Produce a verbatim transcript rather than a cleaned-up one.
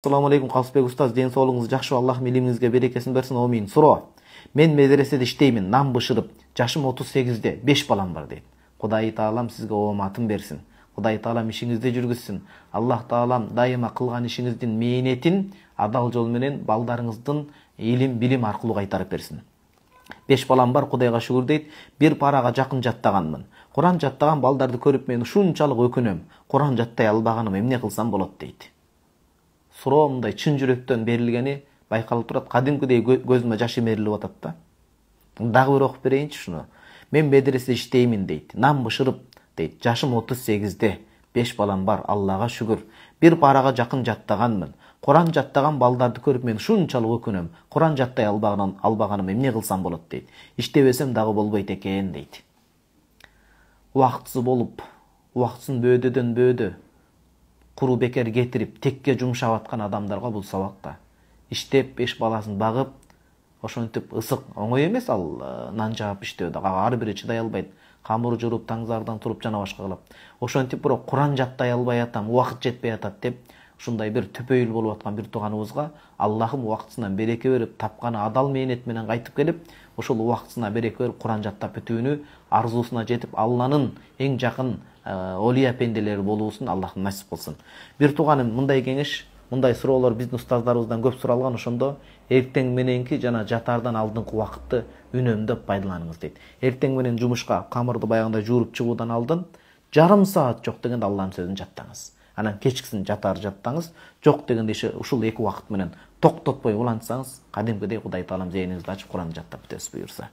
Assalamu alaikum Калысбек устаз, ден соолугуңуз жакшы, Аллах илимиңизге берекесин берсин, амин. Суроо. Мен медреседе иштеймин, нам бышырып, жашым отуз сегизде, беш балам бар дейт. Кудай Таалам сизге ооматын берсин. Кудай Таалам ишиңизди жүргүзсүн. Аллах Таалам дайыма кылган ишиңиздин мээнетин адал жол менен балдарыңыздын илим, билим аркылуу кайтарып берсин. Беш балам бар, Кудайга шүгүр дейт. Бир парага жакын жаттаганмын. Куран жаттаган балдарды көрүп мен ушунчалык өкүнөм. Куран жаттай албаганым эмне кылсам болот дейт. Суроо мындай чын жүрөктөн берилгени байкалып турат. Кадимкидей көзүмө жаш эмерилип атат да. Дагы бир окуп берейинчи шуну. Мен медреседе иштеймин дейт. Нам бышырып дейт. Жашым отуз сегизде. беш балам бар, Аллага шүгүр. Бир парага жакын жаттаганмын. Куран жаттаган балдарды көрүп мен ушунчалык өкүнөм. Куран жаттай албаганым, албаганым эмне кылсам болот дейт. Иштебесем дагы болбойт экен дейт. Убактысы болуп, убактысын бөөдөдөн бөөдө куру бекер кетирип, текке жумшап аткан адамдарга бул сабак да. Иштеп, беш баласын багып, ошентип ысык, оңой эмес ал нан жаап иштөө да. Ар бири чыдай албайт. Камыр журуп, таңзардан туруп жана башка кылып. Ошентип бирок Куран жаттай албай атам, убакыт жетпей атат деп, ушундай бир төпөйүл болуп аткан бир тууганыбызга Аллахым убактысынан береке берип, тапканы адал мээнет менен кайтып келип, ошол убактысына береке берип Куран жаттап бүтүүнү арзуусуна жетип, Алланын эң жакын олия пенделери болуусун Аллахым насип кылсын. Бир тууганым мындай кеңеш, мындай суроолор биздин устаздарыбыздан көп суралган, ошондо эртең мененки жана жатаардан алдыңкы убакытты үнөмдөп пайдаланыңыз дейт. Эртең менен жумушка камырды баягындай жууруп чыгуудан алдын жарым саат жок дегенде Алланын сөзүн жаттаңыз. Анан кечкисин жатаар жаттаңыз. Жок дегенде иши ушул эки убакыт менен токтотпой улантсаңыз, кадимкидей Кудай Таалам зээниңизди ачып Куранды жаттап бүтөсүз буюрса.